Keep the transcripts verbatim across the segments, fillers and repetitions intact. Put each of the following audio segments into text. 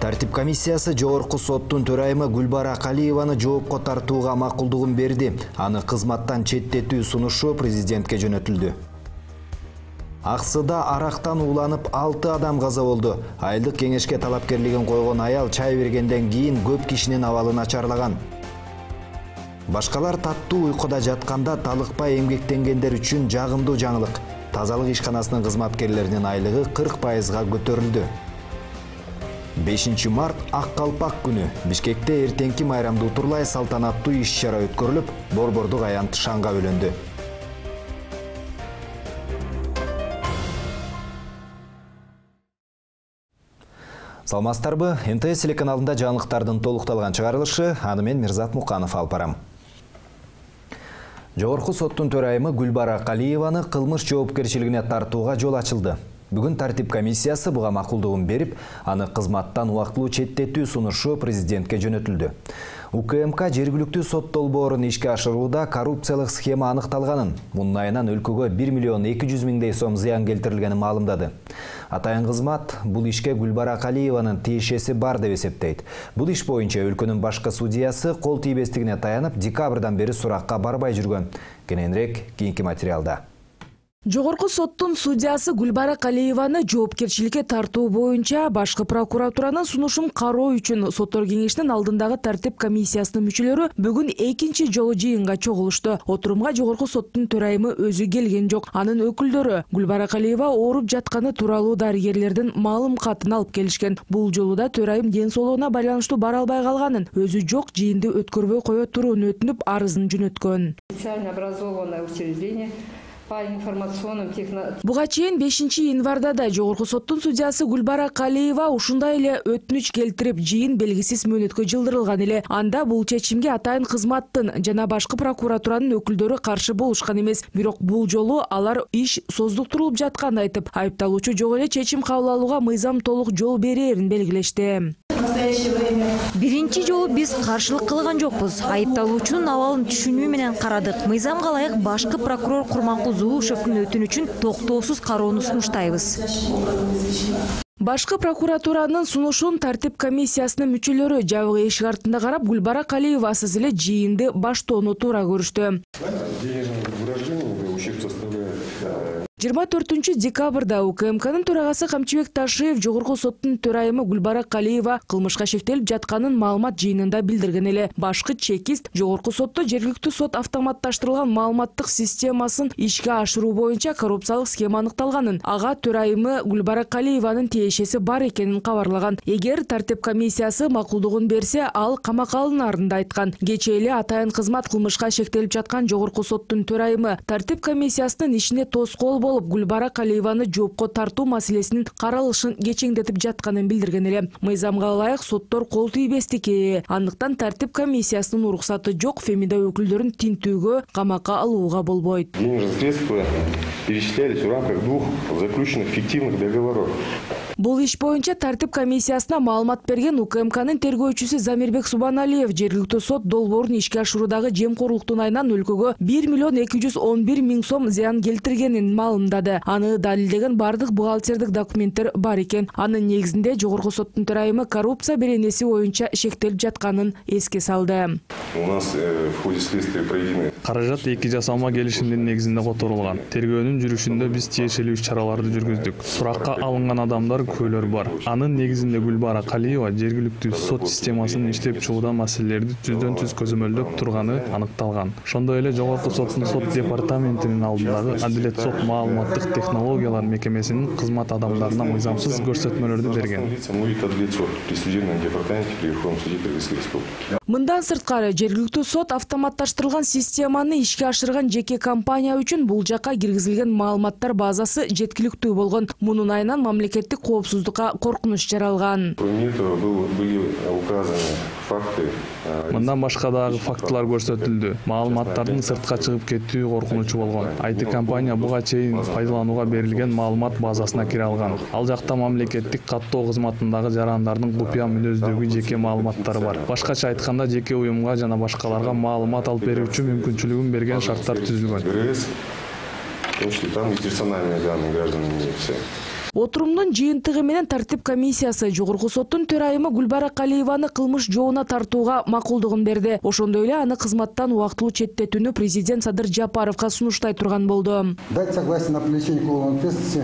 Тартип комиссиясы Жогорку соттун төрайымы Гүлбара Калиеваны жоопко тартууга макулдугун берди. Аны кызматтан четтетүү сунушу президентке жөнөтүлдү. Аксыда арактан ууланып алты адам каза болду. Айылдык кеңешке талапкерлигин койгон аял чай бергенден кийин көп кишинин абалы начарлаган. Башкалар таттуу уйкуда жатканда талыкпай эмгектенгендер үчүн жагымдуу жаңылык. Тазалык ишканасынын кызматкерлеринин айлыгы кырк пайызга көтөрүлдү. бешинчи март Ак калпак күнү. Бишкекте эртеңки майрамды утурлай салтанаттуу иш-чара өткөрүлүп, борбордук аянт шаңга бөлөндү. Саламатсыздарбы? Эн тэ эс телеканалында жаңылыктардын толукталган чыгарылышы, аны мен Мирзат Муканов алып барам. Жогорку соттун төрайымы Гүлбара Калиеваны кылмыш жоопкерчилигине тартууга жол ачылды. Бүгүн тартип комиссиясы буга макулдугун берип, аны кызматтан убактылуу четтетүү сунушу президентке жөнөтүлдү. У К М К жергиликтүү сот долбоорун ишке ашырууда коррупциялык схема аныкталганын, мунун айынан өлкөгө бир миллион эки жүз миңдей сом зыян келтирилгенин маалымдады. Атайын кызмат бул ишке Гүлбара Калиеванын тиешеси бар деп эсептейт. Бул иш боюнча өлкөнүн башкы судьясы кол тийбестигине таянып, декабрдан бери суракка барбай жүргөн. Кененирээк кийинки материалда. Жогорку соттун судьясы Гүлбара Калиеваны жоопкерчиликке тартуу боюнча башкы прокуратуранын сунушун кароо үчүн соттор кеңешинин алдындагы тартип комиссиясынын мүчөлөрү бүгүн экинчи жолу жыйынга чогулушту. Отурумга Жогорку соттун төрайымы өзү келген жок. Анын өкүлдөрү Гүлбара Калиева ооруп жатканы тууралуу дарыгерлердин маалым катын алып келишкен. Бул жолу да төрайым ден соолугуна байланыштуу бара албай калганын, өзү жок жыйынды өткөрбөй кое турууну өтүнүп арызын жөнөткөн. Специально образованное учреждение по информационным технологиям. Буга чейин бешинчи январда да Жогорку соттун судьясы Гүлбара Калиева ушундай эле өтүнүч келтирип, жыйын белгисиз мөөнөткө жылдырылган эле. Анда бул чечимге атайын кызматтын жана башкы прокуратуранын өкүлдөрү каршы болушкан эмес. Бирок бул жолу алар иш создуктурулуп жатканын айтып, айыпталуучу жок эле чечим кабыл алууга мыйзам толук жол берерин белгилешти. Биринчи жолу биз каршылык кылган жокпуз. Айыпталуучунун абалын түшүнүү менен карадык. Мыйзамга ылайык башкы прокурор Курманкул Зулушевдин өтүнүчүн токтоосуз кароону сунуштайбыз. Башкы прокуратуранын сунушун тартип комиссиясынын мүчөлөрү жабык эшик артында карап, Гүлбара Калиевасыз эле жыйынды баштоону туура көрүштү. жыйырма төртүнчү декабрда У К М К'нын төрагасы Камчыбек Ташиев Жогорку соттун төрайымы Гүлбара Калиева кылмышка шектелип жатканын маалымат жыйынында билдирген эле. Башкы чекист Жогорку сотто жергиликтүү сот автоматташтырылган маалыматтык системасын ишке ашыруу боюнча коррупциялык схема аныкталганын, ага төрайымы Гүлбара Калиеванын тиешеси бар экенин кабарлаган. Эгер тартип комиссиясы макулдугун берсе, ал камакка алынарын да айткан. Кечээ эле атайын кызмат кылмышка шектелип жаткан Жогорку соттун төрайымы тартип комиссиясынын ишине тоскоол болуп, Гүлбара Калиеваны жоопко тартуу маселесинин каралышын кечеңдетип жатканын билдирген эле. Мыйзамга ылайык соттор кол тийбестик. Андыктан тартип комиссиясынын уруксаты жок, Фемида өкүлдөрүн тинтүүгө, камакка алууга болбойт. Денежные средства перечислялись в рамках двух заключенных фиктивных договоров. Бул иш боюнча тартип комиссиясына маалымат берген У К М К'нын тергөөчүсү Замирбек Субаналиев жергиликтүү сот долбоорун ишке ашыруудагы жемкорлуктун айынан өлкөгө бир миллион эки жүз он бир миң сом зыян келтиргенин маалымдады. Аны далилдеген бардык бухгалтердик документтер бар экен. Анын негизинде Жогорку соттун төрайымы коррупция беренеси боюнча шектелип жатканын эске салды. У нас в ходе следствия проведены каражат эки жасалма келишимдин негизинде которулган. Тергөөнүн жүрүшүндө биз тиешелүү иш-чараларды жүргүздүк. Суракка алынган адамдар көйлөр бар. Анын негизинде Гүлбара Калиева жергиликтүү сот системасынын иштеп чыгууда маселелерди түздөн түз көзөмөлдөп турганы аныкталган. Ошондой эле Жогорку соттун сот департаментинин алдындагы Адилет сот маалыматтык технологиялар мекемесинин кызмат адамдарына мыйзамсыз көрсөтмөлөрдү берген. Мындан сырткары жергиликтүү сот автоматташтырылган системаны ишке ашырган жеке компания үчүн бул жакка киргизилген маалыматтар базасы жеткиликтүү болгон. Мунун айынан мамлекеттик коопсуздукка коркунуч жаралган. Мындан башка дагы фактылар көрсөтүлдү. Маалыматтардын сыртка чыгып кетүү коркунучу болгон. ай ти компания буга чейин пайдаланууга берилген маалымат базасына кире алган. Ал жакта мамлекеттик каттоо кызматындагы жарандардын купуя мүнөздөгү жеке маалыматтары бар. Башкача айтканда, жеке уюмга жана башкаларга маалымат алып берүүчү мүмкүнчүлүгүн берген шарттар түзүлгөн. В том числе там и персональные данные граждан имеются. Отурумдун жыйынтыгы менен тартип комиссиясы жогорку соттун төрайымы Гүлбара Калиеваны кылмыш жоона тартууга макулдугун берди. Ошондой эле аны кызматтан убактылуу четтетүүнү президент Садыр Жапаровго сунуштай турган болду. Дать согласие на привлечение к уголовной ответственности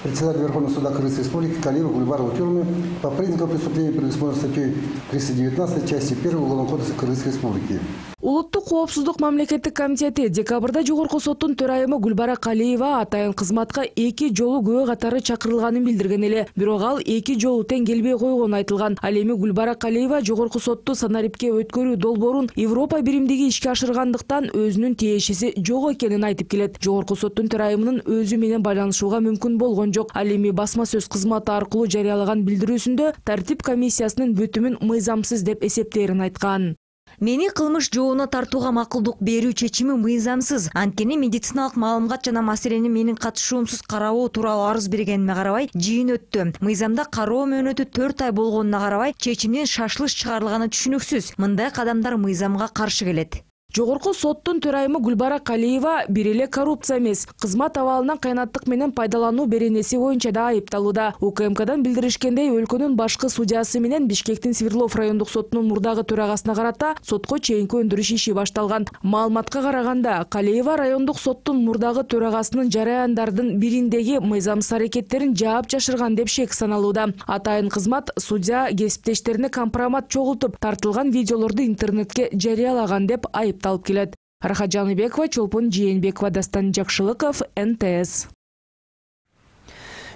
председателя Верховного суда Кыргызской Республики Калиеву Гульбару Тюрмы по признакам преступления, предусмотренного статьей триста девятнадцать части первой Уголовного кодекса Кыргызской Республики. Улуттук коопсуздук мамлекеттик комитети декабрда жогорку соттун төрайымы Гүлбара Калиева атайын кызматка эки жолу күбө катары чакырылганын билдирген эле. Бирок ал эки жолу тең келбей койгону айтылган. Ал эми Гүлбара Калиева жогорку сотту санарипке өткөрүү долбоорун Европа биримдиги ишке ашыргандыктан өзүнүн тиешеси жок экенин айтып келет. Жогорку соттун төрайымынын өзү менен байланышууга мүмкүн болгон жок. Ал эми басма сөз кызматы аркылуу жарыялаган билдирүүсүндө тартип комиссиясынын бүтүмүн мыйзамсыз деп эсептээрин айткан. Мени кылмыш жоона тартууга макулдук берүү чечими мыйзамсыз. Анткени медициналык маалымат жана маселени менин катышуумсуз карабоо тууралуу арыз бергениме карабай жыйын өттү. Мыйзамда кароо мөөнөтү төрт ай болгонуна карабай чечимден шашылыш чыгарылганы түшүнүксүз. Мындай кадамдар мыйзамга каршы келет. Жогорку соттун төрайымы Гүлбара Калиева бир эле коррупция эмес, кызмат абалынан кыянаттык менен пайдалануу беренеси боюнча да айыпталууда. УКМКдан билдиришкендей, өлкөнүн башкы судьясы менен Бишкектин Свердлов райондук сотунун мурдагы төрагасына карата сотко чейинки өндүрүш иши башталган. Маалыматка караганда, Калиева райондук соттун мурдагы төрагасынын жараяндардын бириндеги мыйзамсыз аракеттерин жаап жашырган деп шек саналууда. Атайын кызмат судья кесиптештерине компромат чогултуп, тартылган видеолорду интернетке жарыялаган деп айып талып келет. Рахат Жаныбекова, Чолпон Жээнбекова, Дастан Жакшылыков, эн тэ эс.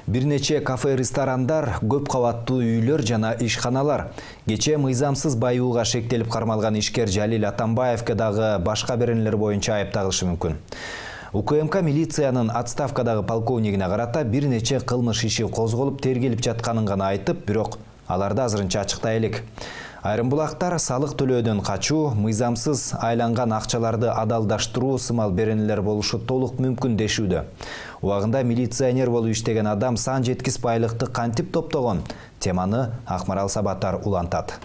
Бир нече кафе-ресторандар, көп кабаттуу үйлөр жана ишканалар кечээ мыйзамсыз байууга шектелип кармалган ишкер Жалил Атамбаевке дагы башка беренелер боюнча айыпталышы мүмкүн. УКМК милициянын отставкадагы полковнигине карата бир нече кылмыш иши козголуп тергелип жатканын гана айтып, бирок аларды азырынча ачыктай элек. Айрым булактар салык төлөөдөн качуу, мыйзамсыз айланган акчаларды адалдаштыруу сымал беренелер болушу толук мүмкүн дешүүдө. Убагында милиционер болуп иштеген адам сан жеткис байлыкты кантип топтогон? Теманы Акмарал Сабатар улантат.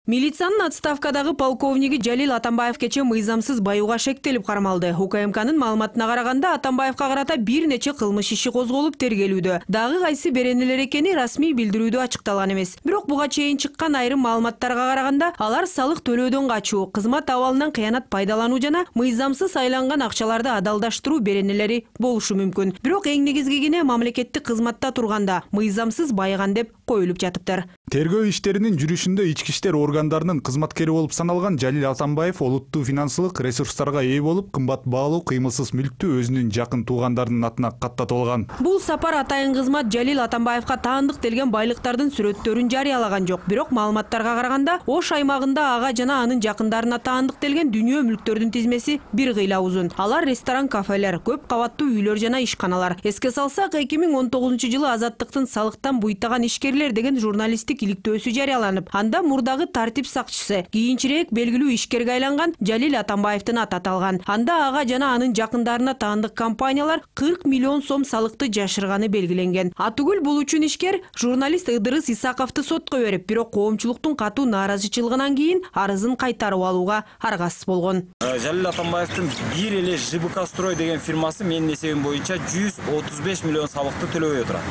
Милициянын отставкадагы полковниги Жалил Атамбаев кечээ мыйзамсыз байууга шектелип кармалды. УКМКнын маалыматына караганда, Атамбаевка карата бир нече кылмыш иши козголуп тергелүүдө. Дагы кайсы беренелер экени расмий билдирүүдө ачыкталган эмес. Бирок буга чейин чыккан айрым маалыматтарга караганда, алар салык төлөөдөн качуу, кызмат абалынан кыянат пайдалануу жана мыйзамсыз айланган акчаларды адалдаштыруу беренелери болушу мүмкүн. Бирок эң негизгигине мамлекеттик кызматта турганда мыйзамсыз байыган деп коюлуп жатыптыр. Тергөө иштеринин жүрүшүндө ички иштер органдарынын кызматкери болуп саналган Жалил Атамбаев олуттуу финансылык ресурстарга ээ болуп, кымбат баалуу кыймылсыз мүлктү өзүнүн жакын туугандарынын атына каттатып алган. Бул сапар атайын кызмат Жалил Атамбаевка таандык делген байлыктардын сүрөттөрүн жарыялаган жок. Бирок маалыматтарга караганда, Ош аймагында ага жана анын жакындарына таандык делген дүнүйө мүлктөрдүн тизмеси бир кыйла узун. Алар ресторан, кафелер, көп кабаттуу үйлөр жана ишканалар. Эске салсак, эки миң он тогузунчу жылы Азаттыктын салыктан буйтаган ишкерлер деген журналисттик иликтөөсү жарыяланып, анда мурдагы тартип сакчысы, кийинчерээк белгилүү ишкерге айланган Жалил Атамбаевдин аты аталган. Анда ага жана анын жакындарына таандык компаниялар кырк миллион сом салыкты жашырганы белгиленген. Атүгүл бул үчүн ишкер журналист Ыдырыс Исаковду сотко берип, бирок коомчулуктун катуу нааразычылыгынан кийин арызын кайтарып алууга аргасыз болгон. Жалил Атамбаевдин бир эле ЖБК строй деген фирмасы менин эсебим боюнча жүз отуз беш миллион салыкты төлөбөй отурат.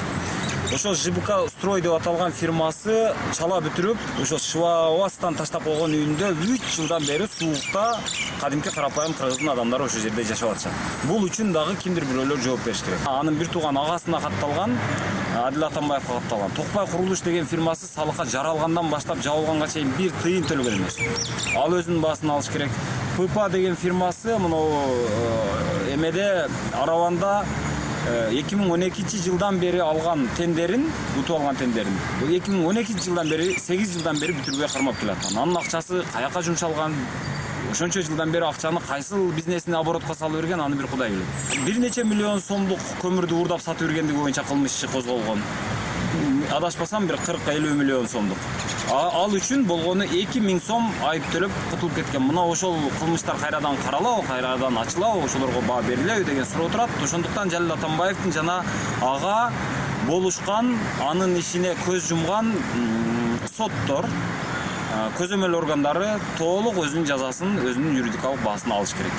Ошол ЖБК строй деп аталган фирмасы чала бүтүрүп, ошол Швабастан таштап койгон үйүндө үч жылдан бери суукта кадимки карапайым кыргыздын адамдары ошол жерде жашап атышат. Бул үчүн дагы кимдир бирөөлөр жооп бериш керек. Анын бир тууган агасына катталган, Адил Атамбаевга катталган. Токпай курулуш деген фирмасы салыкка жаралгандан баштап жабылганга чейин бир тыйын төлөгөн эмес. Ал өзүнүн баасын алыш керек. ПП деген фирмасы мына эмеде Араванда эки миң он экинчи жылдан бери алган тендерин, утуп алган тендерин. эки миң он экинчи жылдан бери, сегиз жылдан бери бүтүрбөй кармап келаткан. Анын акчасы каяка жумшалган? Ошончо жылдан бери акчаны кайсыл бизнесине оборотко салып берген, аны бир Кудай билет. Бир нече миллион сомдук көмүрдү уурдап сатып бергендиги боюнча кылмыш иши козголгон. Адашпасам бир кырк элүү миллион сомдук. Ал үчүн болгону эки миң сом айып төлөп кутулуп кеткен. Мына ошол кылмыштар кайрадан каралабы, кайрадан ачылабы, ошолорго баа берилеби деген суроо турат. Ошондуктан Жалил Атамбаевдин жана ага болушкан, анын ишине көз жумган соттор, көзөмөл органдары толук өзүнүн жазасын, өзүнүн юридикалык баасын алыш керек.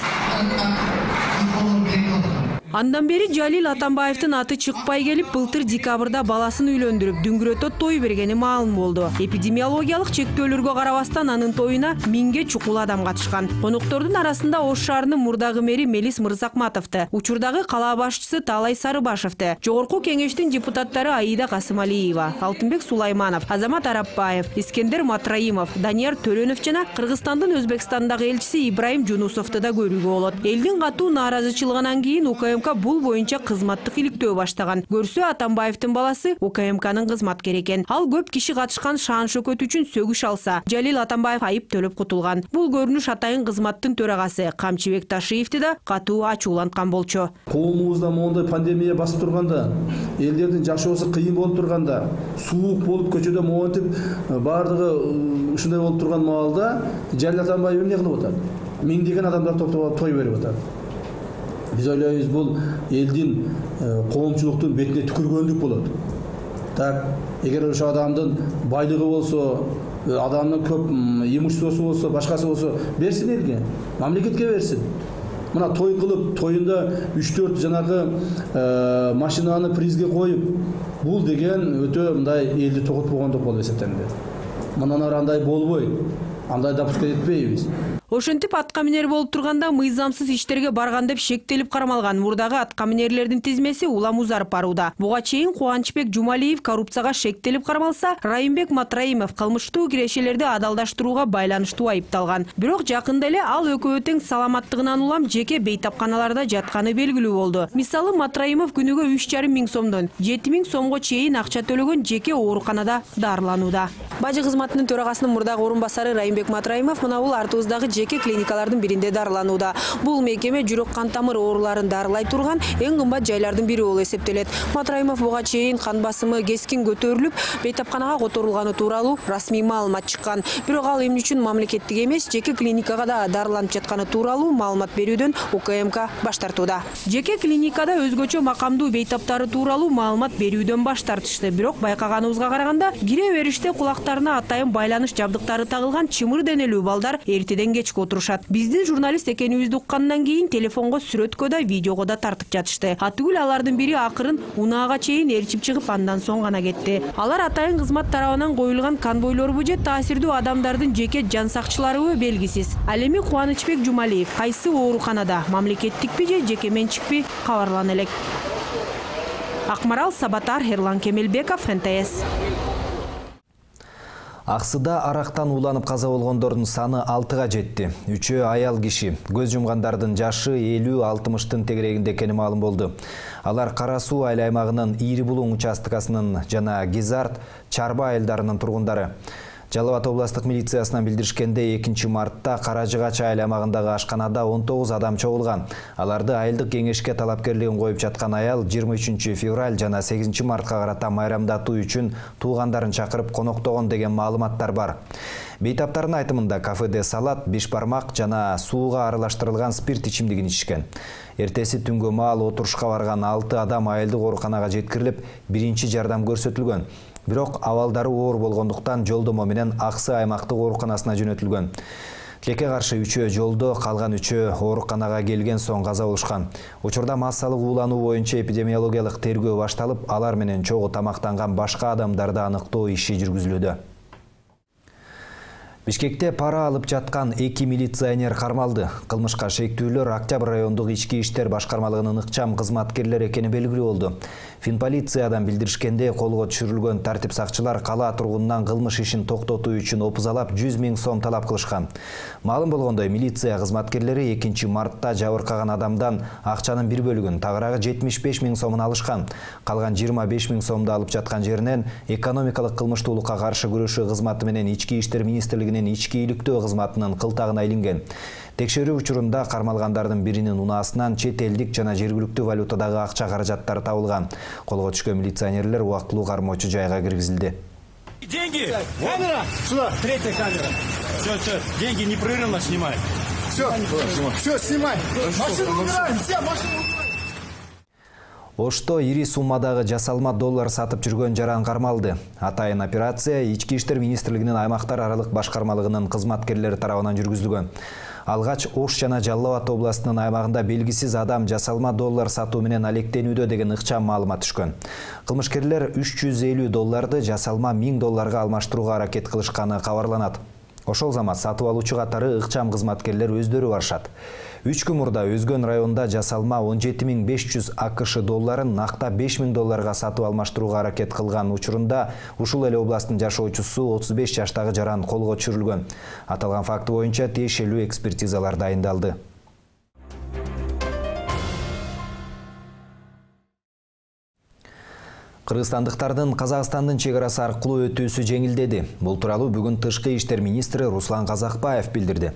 Андан бери Жалил Атамбаевдин аты чыкпай келип, былтыр декабрда баласын үйлөндүрүп, дүңгүрөтө той бергени маалым болду. Эпидемиологиялык чектөөлөргө карабастан анын тоюна миңге чукул адам катышкан. Коноктордун арасында Ош шаарынын мурдагы мэри Мелис Мырзакматовду, учурдагы кала башчысы Таалай Сарыбашевди, жогорку кеңештин депутаттары Аида Касымалиева, Алтынбек Сулайманов, Азамат Арапбаев, Искендер Матраимов, Данияр Төлөнов жана Кыргызстандын Өзбекстандагы элчиси Ибраим Жунусовду да көрүүгө болот. Элдин катуу нааразычылыгынан кийин УКМК бул боюнча кызматтык иликтөө баштаган. Көрсө Атамбаевдин баласы УКМКнын кызматкери экен. Ал көп киши катышкан шаан шөкөт үчүн сөгүш алса, Жалил Атамбаев айып төлөп кутулган. Бул көрүнүш атайын кызматтын төрагасы Камчыбек Ташиевди да катуу ачууланткан болчу. Коомубузда моундай пандемия басып турганда, элдердин жашоосу кыйын болуп турганда, суук болуп көчөдө моонтип баардыгы ушундай болуп турган маалда Жалил Атамбаев эмне кылып атат? Миңдеген адамдар топтоп той берип атат. Биз ойлойбуз, бул элдин коомчулуктун бетине түкүргөндүк болот. Так, эгер ошо адамдын байлыгы болсо, адамдын көп имуществосу болсо, башкасы болсо, берсин элге, мамлекетке берсин. Мына той кылып, тоюнда үч төрт жанагы машинаны призге коюп, бул деген өтө мындай элди токотпогондук болуп эсептелинет. Мындан ары андай болбойт. Андай допуска этпейбиз. Ошентип атка минер болуп турганда мыйзамсыз иштерге барган деп шектелип кармалган мурдагы атка минерлердин тизмеси улам узарып барууда. Буга чейин Кубанычбек Жумалиев коррупцияга шектелип кармалса, Райымбек Матраимов кылмыштуу кирешелерди адалдаштырууга байланыштуу айыпталган. Бирок жакында эле ал экөө тең саламаттыгынан улам жеке бейтапканаларда жатканы белгилүү болду. Мисалы, Матраимов күнүгө үч жарым миң сомдон жети миң сомго чейин акча төлөгөн жеке ооруканада дарыланууда. Бажы кызматынын төрагасынын мурдагы орун басары Райымбек Матраимов мына бул артыбыздагы жеке клиникалардын биринде дарыланууда. Бул мекеме жүрөк кан тамыр ооруларын дарылай турган эң кымбат жайлардын бири болуп эсептелет. Матраимов буга чейин кан басымы кескин көтөрүлүп, бейтапканага которулганы тууралуу расмий маалымат чыккан. Бирок ал эмне үчүн мамлекеттик эмес, жеке клиникага да дарыланып жатканы тууралуу маалымат берүүдөн УКМК баш тартууда. Жеке клиникада өзгөчө макамдуу бейтаптары тууралуу маалымат берүүдөн баш тартышты. Бирок байкаганыбызга караганда, кире бериште кулактарына атайын байланыш жабдыктары тагылган чымыр денелүү балдар эртеден кечке отурушат. Биздин журналист экенибизди уккандан кийин телефонго, сүрөткө да, видеого да тартып жатышты. Атүгүл алардын бири акырын унаага чейин ээрчип чыгып, андан соң гана кетти. Алар атайын кызмат тарабынан коюлган конвойлорбу же таасирдүү адамдардын жеке жан сакчыларыбы белгисиз. Ал эми Кубанычбек Жумалиев кайсы ооруканада, мамлекеттикпи же жеке менчикпи, кабарлана элек. Акмарал Сабатар, Эрлан Кемелбеков, эн тэ эс. Аксыда арактан уланып каза болгондордун саны алтыга жетти. Үчөө аял киши. Көз жумгандардын жашы элүү алтымыштын тегерегинде экени маалым болду. Алар Кара Суу айыл аймагынын Ири Булуң участкасынын жана Гизарт, Чарба айылдарынын тургундары. Жалал Абад областык милициясынан билдиришкенде, экинчи мартта Каражыгач айыл аймагындагы ашканада он тогуз адам чогулган. Аларды айылдык кеңешке талапкерлигин коюп жаткан аял жыйырма үчүнчү февраль жана сегизинчи мартка карата майрамдатуу үчүн туугандарын чакырып коноктогон деген маалыматтар бар. Бейтаптардын айтымында кафеде салат, беш бармак жана сууга аралаштырылган спирт ичимдигин ичишкен. Эртеси түнгө маал отурушка барган алты адам айылдык ооруканага жеткирилип, биринчи жардам көрсөтүлгөн. Бирок абалдары оор болгондуктан жолдомо менен Аксы аймактык ооруканасына жөнөтүлгөн. Тилекке каршы үчөө жолдо, калган үчөө ооруканага келген соң каза болушкан. Учурда массалык уулануу боюнча эпидемиологиялык тергөө башталып, алар менен чогуу тамактанган башка адамдарды аныктоо иши жүргүзүлүүдө. Бишкекте пара алып жаткан эки милиционер кармалды. Кылмышка шектүүлөр Октябрь райондук ички иштер башкармалыгынын ыкчам кызматкерлери экени белгилүү болду. Финполициядан билдиришкенде, колго түшүрүлгөн тартип сакчылар кала тургунунан кылмыш ишин токтотуу үчүн опузалап жүз миң сом талап кылышкан. Маалым болгондой, милиция кызматкерлери экинчи мартта жабыркаган адамдан акчанын бир бөлүгүн, тагыраагы жетимиш беш миң сомун алышкан. Калган жыйырма беш миң сомду алып жаткан жеринен экономикалык кылмыштуулукка каршы күрөшүү кызматы менен ички иштер министрлигинин ички иликтөө кызматынын кылтагына илинген. Текшерүү учурунда кармалгандардын биринин унаасынан чет элдик жана жергиликтүү валютадагы акча каражаттары табылган. Колго түшкөн милиционерлер убактылуу кармоочу жайга киргизилди. Деньги! Камера! Сюда! Третья камера! Все, все, деньги непрерывно снимай. Все, все, снимай! Машину убираем! Все, машину убираем! Ошто ири суммадагы жасалма доллар сатып жүргөн жаран кармалды. Атайын операция ички иштер министрлигинин аймактар аралык башкармалыгынын кызматкерлери тарабынан жүргүзүлгөн. Алгач Ош жана Жалал Абад областынын аймагында белгисиз адам жасалма доллар сатуу менен алектенүүдө деген ыкчам маалымат түшкөн. Кылмышкерлер үч жүз элүү долларды жасалма миң долларга алмаштырууга аракет кылышканы кабарланат. Ошол замат сатып алуучу катары ыкчам кызматкерлер өздөрү барышат. Үч күн мурда Өзгөн районунда жасалма он жети миң беш жүз АКШ долларын накта беш миң долларга сатып алмаштырууга аракет кылган учурунда ушул эле областтын жашоочусу отуз беш жаштагы жаран колго түшүрүлгөн. Аталган факты боюнча тиешелүү экспертизалар дайындалды. Кыргызстандыктардын Казакстандын чек арасы аркылуу өтүүсү жеңилдеди. Бул тууралуу бүгүн Тышкы иштер министри Руслан Казакбаев билдирди.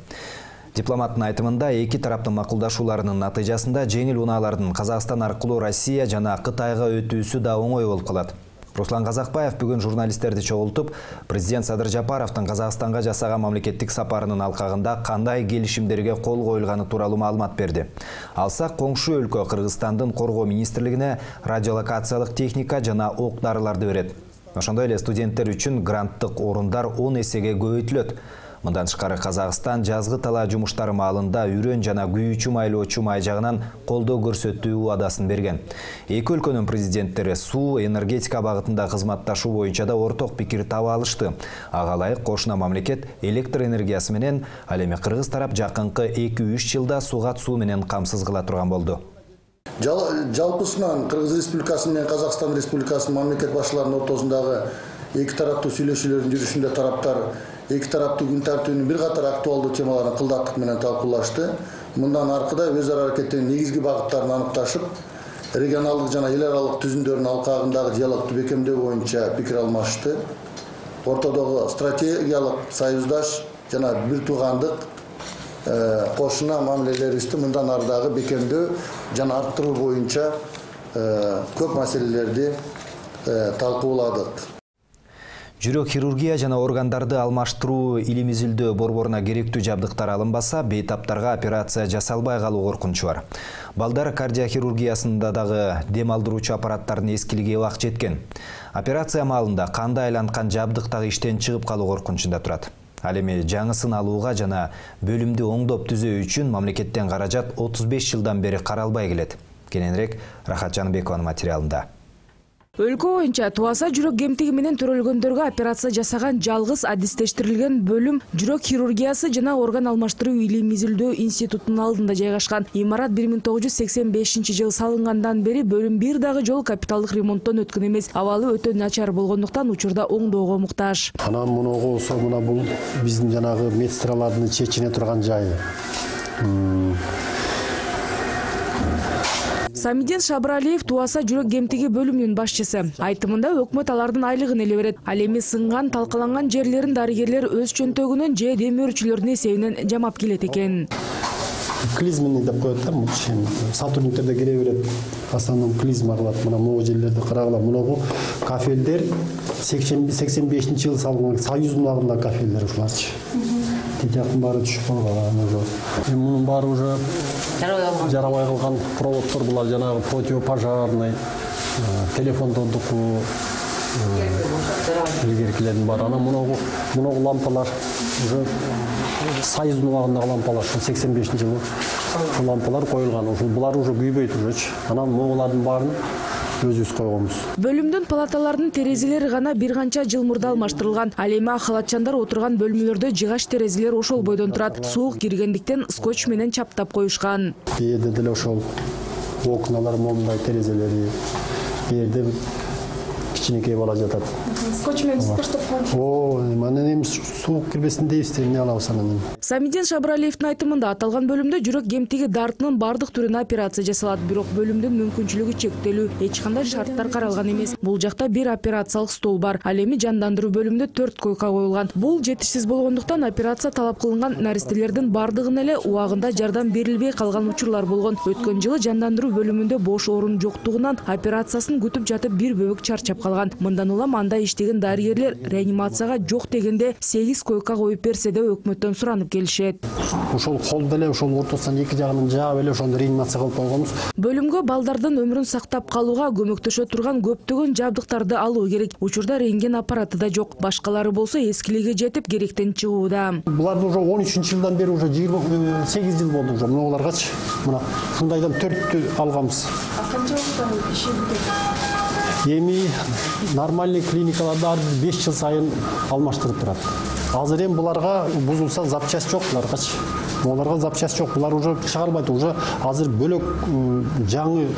Дипломаттын айтымында эки тараптын макулдашууларынын натыйжасында жеңил унаалардын Казакстан аркылуу Россия жана Кытайга өтүүсү да оңой болуп калат. Руслан Казакбаев бүгүн журналисттерди чогултуп, президент Садыр Жапаровдун Казакстанга жасаган мамлекеттик сапарынын алкагында кандай келишимдерге кол коюлганы тууралуу маалымат берди. Алсак, коңшу өлкө Кыргызстандын коргоо министрлигине радиолокациялык техника жана ок-дарыларды берет. Ошондой эле студенттер үчүн гранттык орундар он эсеге көбөйтүлөт. Мындан тышкары Казакстан жазгы талаа жумуштары маалында үрөн жана күйүүчү майлоочу май жагынан колдоо көрсөтүү убадасын берген. Эки өлкөнүн президенттери суу, энергетика багытында кызматташуу боюнча да орток пикир таба алышты. Ага ылайык кошуна мамлекет электр энергиясы менен, ал эми кыргыз тарап жакынкы эки үч жылда сугат суу менен камсыз кыла турган болду. Жалпысынан Кыргыз Республикасы менен Казакстан Республикасынын мамлекет башчыларынын ортосундагы эки тараптуу сүйлөшүүлөрдүн жүрүшүндө тараптар эки тараптуу күн тартибинин бир катар актуалдуу темаларын кылдаттык менен талкуулашты. Мындан аркыда өз ара аракеттин негизги багыттарын аныкташып, регионалдык жана эл аралык түзүмдөрдүн алкагындагы диалогду бекемдөө боюнча пикир алмашты. Ортодогу стратегиялык союздаш жана бир туугандык кошуна мамилелерибизди мындан ары дагы бекемдөө жана арттыруу боюнча көп маселелерди талкууладык. Жүрөк хирургия жана органдарды алмаштыруу илим-изилдөө борборуна керектүү жабдыктар алынбаса, бейтаптарга операция жасалбай калуу коркунучу бар. Балдар кардиохирургиясында дагы дем алдыруучу аппараттардын эскилиги убак жеткен. Операция маалында канды айланткан жабдык дагы иштен чыгып калуу коркунучунда турат. Ал эми жаңысын алууга жана бөлүмдү оңдоп түзөө үчүн мамлекеттен каражат отуз беш жылдан бери каралбай келет. Кененирээк Рахат Жаныбекованын материалында. Өлкө боюнча туаса жүрөк кемтиги менен төрөлгөндөргө операция жасаган жалгыз адистештирилген бөлүм жүрөк хирургиясы жана орган алмаштыруу илим-изилдөө институтунун алдында жайгашкан. Имарат бир миң тогуз жүз сексен бешинчи жылы салынгандан бери бөлүм бир дагы жолу капиталдык ремонттон өткөн эмес. Абалы өтө начар болгондуктан учурда оңдоого муктаж. Анан мунуга болсо мына бул биздин жанагы медсестралардын чечине турган жайы. Самиден Шабыралиев туаса жүрөк кемтиги бөлүмүнүн башчысы. Айтымында өкмөт алардын айлыгын эле берет. Ал эми сынган, талкаланган жерлерин дарыгерлер өз чөнтөгүнөн же демөөрчүлөрдүн эсебинен жамап келет экен. Клизмени деп коет да, сотрудниктер да келе берет. Основном клизма кылат. Мына могу жерлерди карагыла. Мунагу кафелдер сексен бешинчи жылы салынган Союздун алдында кафелдер ушуларчы. Тетяктын баары түшүп калган. Эми мунун баары уже жарабай калган проводдор, булар жанагы противопожарный, телефондордуку, илгеркилердин баары. Анан мунагу мунагу лампалар уже Союздун убагындагы лампалар, сексен бешинчи жылы лампалар коюлган. Ушул булар уже күйбөйт уже. Анан могулардын баарын өзүбүз койгонбуз. Бөлүмдүн палаталарынын терезелери гана бир канча жыл мурда алмаштырылган. Ал эми халатчандар отурган бөлмөлөрдө жыгач терезелер ошол бойдон турат. Суук киргендиктен скотч менен чаптап коюшкан. Бээрде деле ошол окналар, момундай терезелери, бээрде кичинекей бала жатат. Скотч менен скотчтоп коюш. О, анан эми суук кирбесин дейбиз, эмне алабыз анан. Самиден Шабыралиевдин айтымында аталган бөлүмдө жүрөк кемтиги дартынын бардык түрүнө операция жасалат, бирок бөлүмдүн мүмкүнчүлүгү чектелүү, эч кандай шарттар каралган эмес. Бул жакта бир операциялык стол бар. Ал эми жандандыруу бөлүмүндө төрт койка коюлган. Бул жетишсиз болгондуктан операция талап кылынган наристелердин бардыгына эле убагында жардам берилбей калган учурлар болгон. Өткөн жылы жандандыруу бөлүмүндө бош орун жоктугунан операциясын күтүп жатып бир бөбөк чарчап калган. калган. Мындан улам анда иштеген дарыгерлер реанимацияга жок дегенде сегиз койка коюп берсе да өкмөттөн суранып келишет. Ошол колду эле ошол ортосунан эки жагынан жаап эле ошону реанимация кылып койгонбуз. Бөлүмгө балдардын өмүрүн сактап калууга көмөктөшө турган көптөгөн жабдыктарды алуу керек. Учурда рентген аппараты да жок. Башкалары болсо эскилиге жетип керектен чыгууда. Буларды уже он үчүнчү жылдан бери уже жыйырма сегиз жыл болду уже. Мыналаргачы мына ушундайдан төрттү алганбыз. Канча убакыттан иши бүтөт? Эми нормальный клиникаларда ар бир беш жыл сайын алмаштырып турат. Азыр эми буларга бузулса запчасть жок буларгачы. Буларга запчасть жок. Булар уже чыгарылбайт. Уже азыр бөлөк жаңы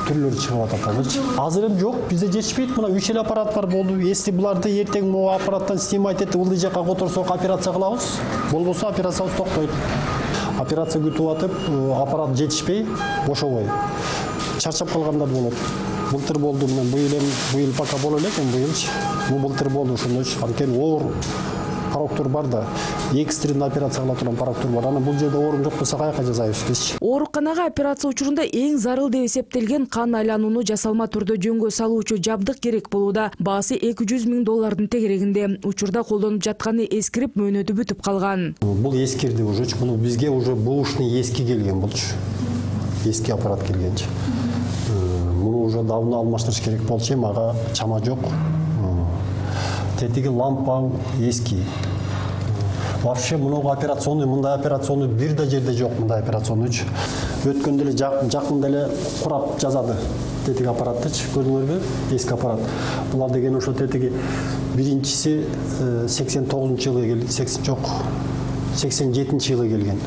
түрлөрү чыгып атат. Азыр эми жок, бизде жетишпейт. Мына үч эле аппарат бар болду. Эсти буларды эртең могу аппараттан снимать этип ылдый жакка которсок операция кылабыз. Болбосо операциябыз токтойт. Операция күтүп атып, аппарат жетишпей, бошобой. Чарчап калгандар болот. Былтыр болду, мына быйыл эми быйыл пока боло элек, эми быйылчы. Бул былтыр болду ошондойчу. Анткени оор пароктор бар да, экстренный операция кыла турган пароктор бар. Аны бул жерде орун жок болсо каяка жасайбыз биз? Ооруканага операция учурунда эң зарыл деп эсептелген кан айланууну жасалма түрдө жөнгө салуучу жабдык керек болууда. Баасы эки жүз миң доллардын тегерегинде. Учурда колдонуп жатканы эскирип, мөөнөтү бүтүп калган. Бул эскирди уже, бул бизге уже бушный эски келген болчу. Эски аппарат келгенчи. Муну уже давно алмаштырыш керек болчу, эми ага чама жок. Тетиги лампа эски. Вообще мынау операционный, мындай операционный бир да жерде жок, мындай операционныйчы. Өткөндө эле жакында эле курап жазады. Тетиги аппараттычы, көрдүңөрбү? Эски аппарат. Булар деген ошо тетиги биринчиси сексен тогузунчу жылы келди, сексен жок, сексен жетинчи жылы келген.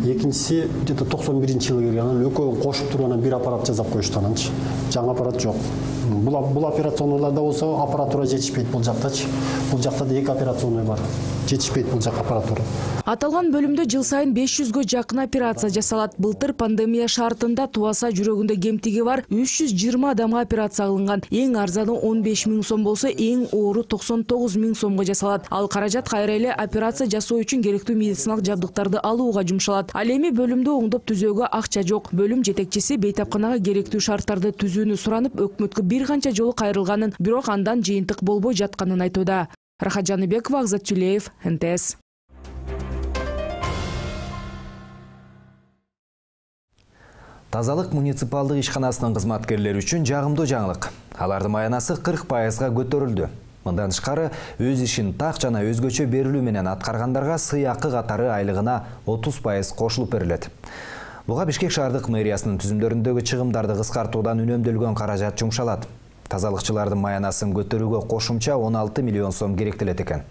Экинчиси где-то токсон биринчи жылы келген. Анан экөөнүн кошуп туруп анан бир аппарат жасап коюшту ананчы. Жаңы аппарат жок. Бул бул операционныйларда болсо аппаратура жетишпейт бул жактачы. Бул жакта да эки операционный бар. Жетишпейт бул жак аппаратура. Аталган бөлүмдө жыл сайын беш жүзгө жакын операция жасалат. Былтыр пандемия шартында тубаса жүрөгүндө кемтиги бар үч жүз жыйырма адамга операция кылынган. Эң арзаны он беш миң сом болсо, эң оору токсон тогуз миң сомго жасалат. Ал каражат кайра эле операция жасоо үчүн керектүү медициналык жабдыктарды алууга жумшалат. Ал эми бөлүмдө оңдоп түзөөгө акча жок. Бөлүм жетекчиси бейтапканага керектүү шарттарды түзүүнү суранып, өкмөткө бир канча жолу кайрылганын, бирок андан жыйынтык болбой жатканын айтууда. Рахат Жаныбекова, Акзат Тюлеев, эн тэ эс. Тазалык муниципалдык ишканасынын кызматкерлери үчүн жагымдуу жаңылык. Алардын маянасы кырк пайызга көтөрүлдү. Мындан тышкары өз ишин так жана өзгөчө берилүү менен аткаргандарга сыйакы катары айлыгына отуз пайыз кошулуп берилет. Буга Бишкек шаардык мэриясынын түзүмдөрүндөгү чыгымдарды кыскартуудан үнөмдөлгөн каражат жумшалат. Тазалыкчылардын маянасын көтөрүүгө кошумча он алты миллион сом керектелет экен.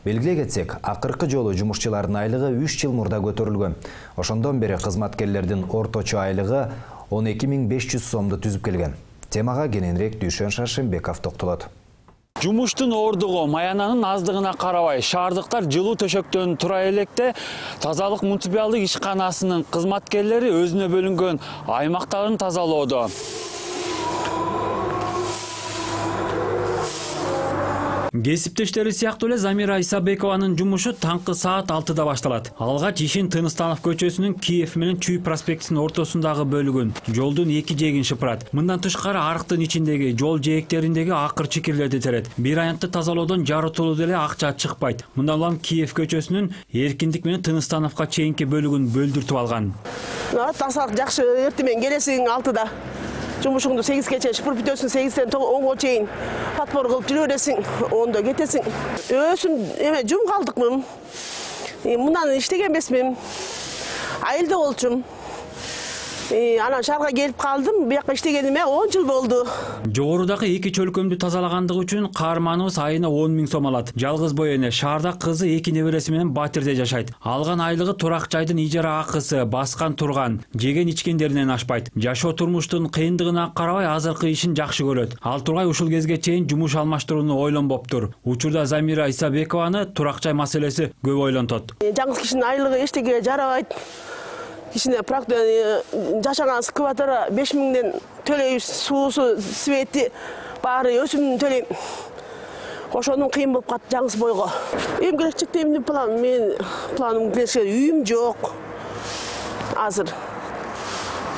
Белгилей кетсек, акыркы жолу жумушчулардын айлыгы үч жыл мурда көтөрүлгөн. Ошондон бери кызматкерлердин орточо айлыгы он эки миң беш жүз сомду түзүп келген. Темага кененирээк Дүйшөн Шаршембеков токтолот. Жумуштун оордугу, маянанын аздыгына карабай, шаардыктар жылуу төшөктөн тура электе тазалык муниципалдык ишканасынын кызматкерлери өзүнө бөлүнгөн аймактарын тазалоодо. Кесиптештери сыяктуу эле Замира Исабекованын жумушу таңкы саат алтыда башталат. Алгач ишин Тыныстанов көчөсүнүн Киев менен Чүй проспектисинин ортосундагы бөлүгүн, жолдун эки жээгин шыпырат. Мындан тышкары арыктын ичиндеги жол жээктериндеги акыр чикирлерди терет. Бир аянтты тазалоодон жарытылуу деле акча чыкпайт. Мындан улам Киев көчөсүнүн Эркиндик менен Тыныстановго чейинки бөлүгүн бөлдүртүп алган. Тазалык жакшы, эртең менен келесиң алтыда. Жумушуңду сегизге чейин шыпырып бүтөсүң, сегизден онго чейин подбор кылып жүрө бересиң, ондо кетесиң. Өзүм эме жум калдыкмын. Мындан иштеген эмесмин. Айылда болчумун. Анан шаарга келип калдым, бияка иштегениме он жыл болду. Жогорудагы эки чөлкөмдү тазалагандыгы үчүн каарманыбыз айына он миң сом алат. Жалгыз бой эне, шаарда кызы эки небереси менен Батирде жашайт. Алган айлыгы турак жайдын ижара акысы, баскан турган, жеген ичкендеринен ашпайт. Жашоо турмуштун кыйындыгына карабай азыркы ишин жакшы көрөт. Ал тургай ушул кезге чейин жумуш алмаштырууну ойлонбоптур. Учурда Замира Исабекованы турак жай маселеси көп ойлонтот. Жаңы кишинин айлыгы эчтеге жарабайт. Кишине практика жашаган скватара беш миңден төлөйбүз, суусу, свети баары өсүмүн төлөйм. Ошонун кыйын болуп калат жаңы бойго. Эми келечекте эмне план? Мен планым келсе үйүм жок. Азыр.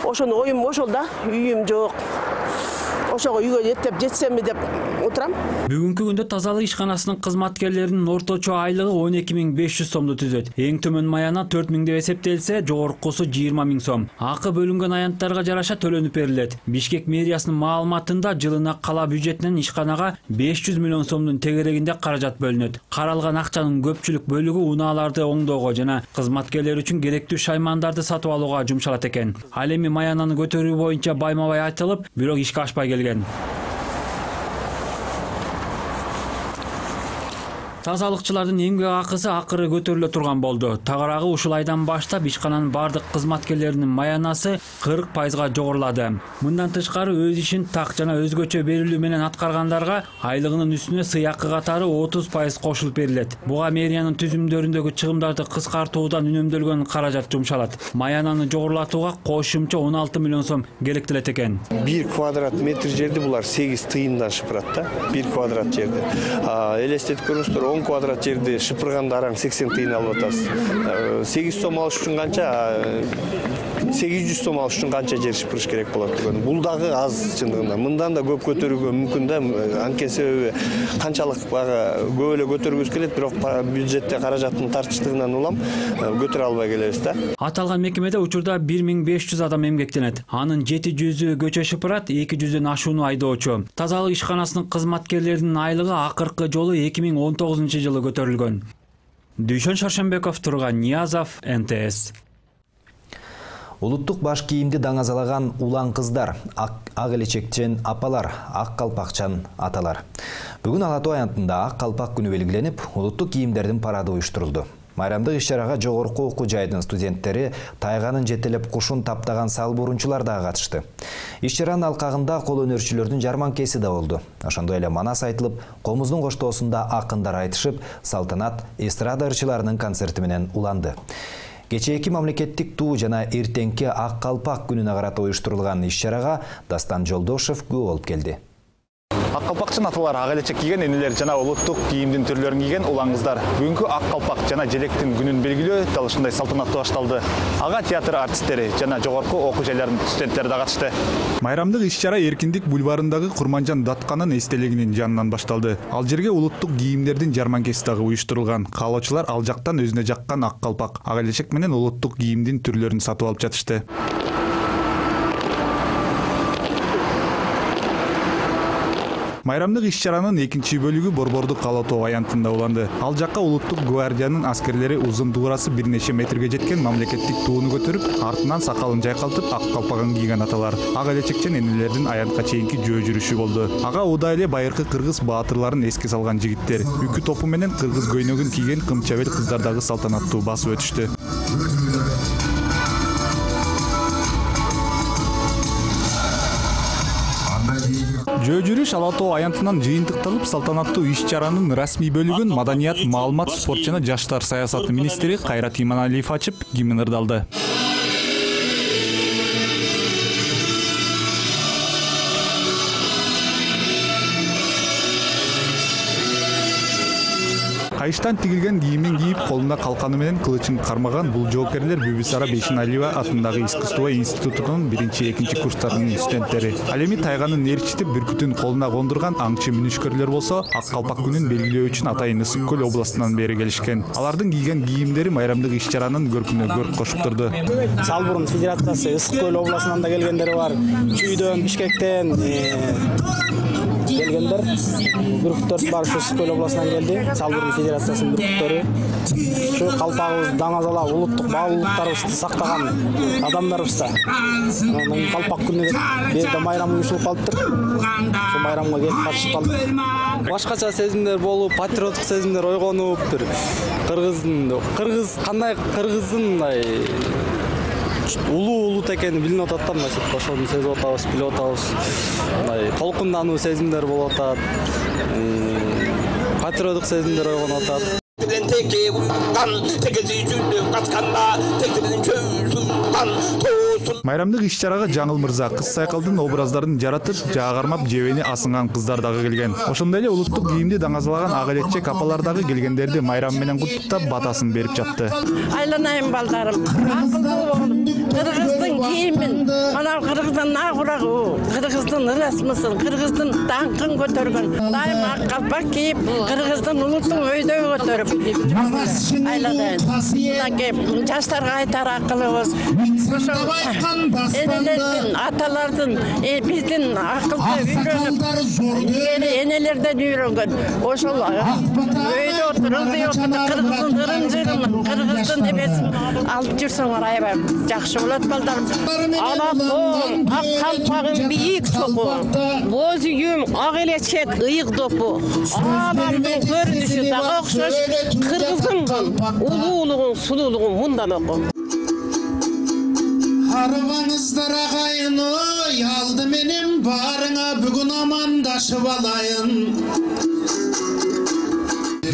Ошону оюм ошол да, үйүм жок. Ошого үйгө жеттеп жетсемби деп отурам. Бүгүнкү күндө тазалык ишканасынын кызматкерлеринин орточо айлыгы он эки миң беш жүз сомду түзөт. Эң төмөн маяна төрт миң деп эсептелсе, жогоркусу жыйырма миң сом. Акы бөлүнгөн аянттарга жараша төлөнүп берилет. Бишкек мэриясынын маалыматында жылына кала бюджетинен ишканага беш жүз миллион сомдун тегерегинде каражат бөлүнөт. Каралган акчанын көпчүлүк бөлүгү унааларды оңдоого жана кызматкерлер үчүн керектүү шаймандарды сатып алууга жумшалат экен. Ал эми маянаны көтөрүү боюнча байма-бай айтылып, бирок ишке ашпай келген. Тазалыкчылардын эмгек акысы акыры көтөрүлө турган болду. Тагыраагы ушул айдан баштап ишкананын бардык кызматкерлеринин маянасы кырк пайызга жогорулады. Мындан тышкары өз ишин так жана өзгөчө берилүү менен аткаргандарга айлыгынын үстүнө сыйакы катары отуз пайыз кошулуп берилет. Буга мэриянын түзүмдөрүндөгү чыгымдарды кыскартуудан үнөмдөлгөн каражат жумшалат. Маянаны жогорулатууга кошумча он алты миллион сом керектелет экен. бир квадрат метр жерди булар сегиз тыйындан шыпырат да. бир квадрат жерди. Элестетип көрүңүздөр, он квадрат жерди шыпырганда араң сексен тыйын алып атасыз. сегиз сом алыш үчүн канча, сегиз жүз сом алыш үчүн канча жер шыпырыш керек болот деген. Бул дагы аз чындыгында. Мындан да көп көтөрүүгө мүмкүн да. Анткени себеби канчалык бага көп эле көтөргүбүз келет, бирок бюджетте каражаттын тартыштыгынан улам көтөрө албай келебиз да. Аталган мекемеде учурда бир миң беш жүз адам эмгектенет. Анын жети жүзү көчө шыпырат, эки жүздөн ашууну айдоочу. Тазалык ишканасынын кызматкерлеринин айлыгы акыркы жолу эки миң он тогузунчу жылы көтөрүлгөн. Дүйшөн Шаршенбеков, Турган Ниязов, эн тэ эс. Улуттук баш кийимди даңазалаган улан кыздар, ак элечекчен апалар, ак калпакчан аталар. Бүгүн Ала Тоо аянтында ак калпак күнү белгиленип, улуттук кийимдердин парады уюштурулду. Майрамдык иш-чарага жогорку окуу жайдын студенттери тайганын жетелеп кушун таптаган сал бурунчулар да катышты. Иш-чаранын алкагында кол өнөрчүлөрдүн жарманкеси да болду. Ошондой эле манас айтылып, комуздун коштоосунда акындар айтышып, салтанат эстрада ырчыларынын концерти менен уланды. Кечээки мамлекеттик туу жана эртеңки ак калпак күнүнө карата уюштурулган иш-чарага Дастан Жолдошев күбө болуп келди. Ак калпакчын аталар ак элечек кийген энелер жана улуттук кийимдин түрлөрүн кийген улан кыздар. Бүгүнкү ак калпак жана желектин күнүн белгилөө дал ушундай салтанаттуу башталды. Ага театр артисттери жана жогорку окуу жайларынын студенттери да катышты. Майрамдык иш-чара Эркиндик бульварындагы Курманжан Датканын эстелигинин жанынан башталды. Ал жерге улуттук кийимдердин жарманкеси дагы уюштурулган. Каалоочулар ал жактан өзүнө жаккан ак калпак, ак элечек менен улуттук кийимдин түрлөрүн сатып алып жатышты. Майрамдык иш-чаранын экинчи бөлүгү Борбордук Ала Тоо аянтында уланды. Ал жакка улуттук гвардиянын аскерлери узун дуурасы бир нече метрге жеткен мамлекеттик тууну көтөрүп, артынан сакалын жайкалтып, ак калпагын кийген аталар, ак элечекчен энелердин аянтка чейинки жөө жүрүшү болду. Ага удай эле байыркы кыргыз баатырларын эске салган жигиттер, үкү топу менен кыргыз көйнөгүн кийген кымчабел кыздар дагы салтанаттуу басып өтүштү. Жөө жүрүш Ала Тоо аянтынан жыйынтыкталып, салтанаттуу иш-чаранын расмий бөлүгүн Маданият, маалымат, спорт жана жаштар саясаты министри Кайрат Иманалиев ачып, гимн ырдалды. Кайыштан тигилген кийимин кийип, колуна калканы менен кылычын кармаган бул жоокерлер Бүбүсара Бейшеналиева атындагы искусство институтунун биринчи экинчи курстарынын студенттери. Ал эми тайганын ээрчитип бүркүтүн колуна кондурган аңчы мүнүшкөрлөр болсо, ак калпак күнүн белгилөө үчүн атайын Ысык Көл областынан бери келишкен. Алардын кийген кийимдери майрамдык иш-чаранын көркүнө көрк кошуп турду. Салбурун федерациясы Ысык Көл областынан да келгендери бар. Чүйдөн, Бишкектен келгендер, бүркүттөр бар, Ысык Көл областынан келди. Салбурун федерациясынын бүркүттөрү. Şu kalpağımız, damazala, ulutluk, bağlılıklarımızı saklagan adamlarımız da. Onun kalpak günü bir de mayram uyuşulup kalıptır. Şu mayramga gelip katışıp kalıptır. Başkaça sezimler bolup, patriotik sezimler oygonup, bir Kırgız'ın, Kırgız, kanday Kırgız'ın улуу улут экени билинип атат да, мына ошону сезип атабыз, билип атабыз. Мындай толкундануу сезимдер болуп атат. Патриоттук сезимдер ойгонуп атат. Майрамдык иш-чарага Жаңыл Мырза кыз сайкалдын образдарын жаратып, жаагармап жебени асынган кыздар дагы келген. Ошондой эле улуттук кийимди даңазалаган ага элекчек апалар дагы келгендерди майрам менен куттуктап батасын берип жатты. Айланайым балдарым, акылдуу болуп, кыргыздын кийимин, мына кыргыздын нагурагы, кыргыздын ырасмысын, кыргыздын даңкын көтөргөн. Дайым ак калпак кийип, кыргыздын улутун өйдөй көтөрүп айланайын. Мынакей жаштарга айтар акылыбыз, ошол энелердин, аталардын, биздин акылды үйрөнүп, энелерден үйрөнгөн. Ошол өйдө отуруп, ылдый отуруп, кыргыздын ырым-жырымын, кыргыздын эмесин алып жүрсөңөр аябай жакшы болот балдарым. Ана тоом, ак калпагым бийик соку, боз үйүм ак элечек ыйык допу. Анамдын көрүнүшү дагы окшош, кыргыздын улуулугун, сулуулугун мындан оку. Арыбаңыздар агайын ой, алды менен барыңа бүгүн амандашып алайын.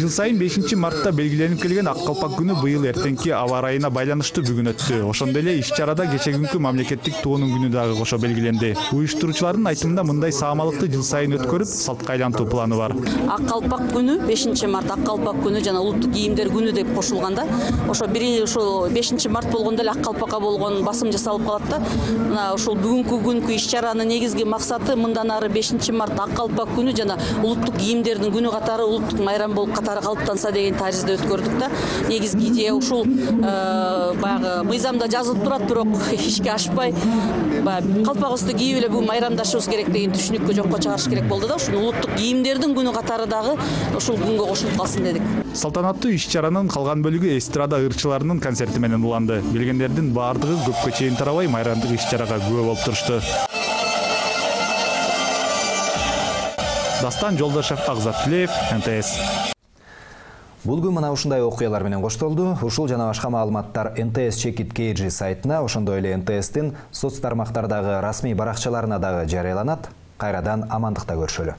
Жыл сайын бешинчи мартта белгиленип келген ак калпак күнү быйыл эртеңки аба ырайына байланыштуу бүгүн өттү. Ошондой эле иш-чарада кече күнкү мамлекеттик туунун күнү дагы кошо белгиленди. Уюштуруучулардын айтымында мындай саамалыкты жыл сайын өткөрүп, салтка айлантуу планы бар. Ак калпак күнү бешинчи март ак калпак күнү жана улуттук кийимдер күнү деп кошулганда, ошо бир ошо бешинчи март болгондо эле ак калпакка болгон басым жасалып калат да. Мына ошол бүгүнкү күнкү иш-чаранын негизги максаты мындан ары бешинчи март ак калпак күнү жана улуттук кийимдердин күнү катары улуттук майрам болуп калыптанса деген таризде өткөрдүк да. Негизги идея ушул баягы мыйзамда жазылып турат, бирок ишке ашпай, баягы калпагыбызды кийип эле бүгүн майрамдашыбыз керек деген түшүнүккө жокко чыгарыш керек болду да. Ушул улуттук кийимдердин күнү катары дагы ушул күнгө кошулуп калсын дедик. Салтанаттуу иш-чаранын калган бөлүгү эстрада ырчыларынын концерти менен уланды. Келгендердин баардыгы көпкө чейин тарабай майрамдык иш-чарага күбө болуп турушту. Дастан Жолдошев, Агзат Тилеев, эн тэ эс. Бул күн мына ушундай окуялар менен коштолду. Ушул жана башка маалыматтар эн тэ эс Чекит Кейджи сайтына, ошондой эле эн тэ эстин соц тармактардагы расмий баракчаларына дагы жарыяланат. Кайрадан амандыкта көрүшөлү.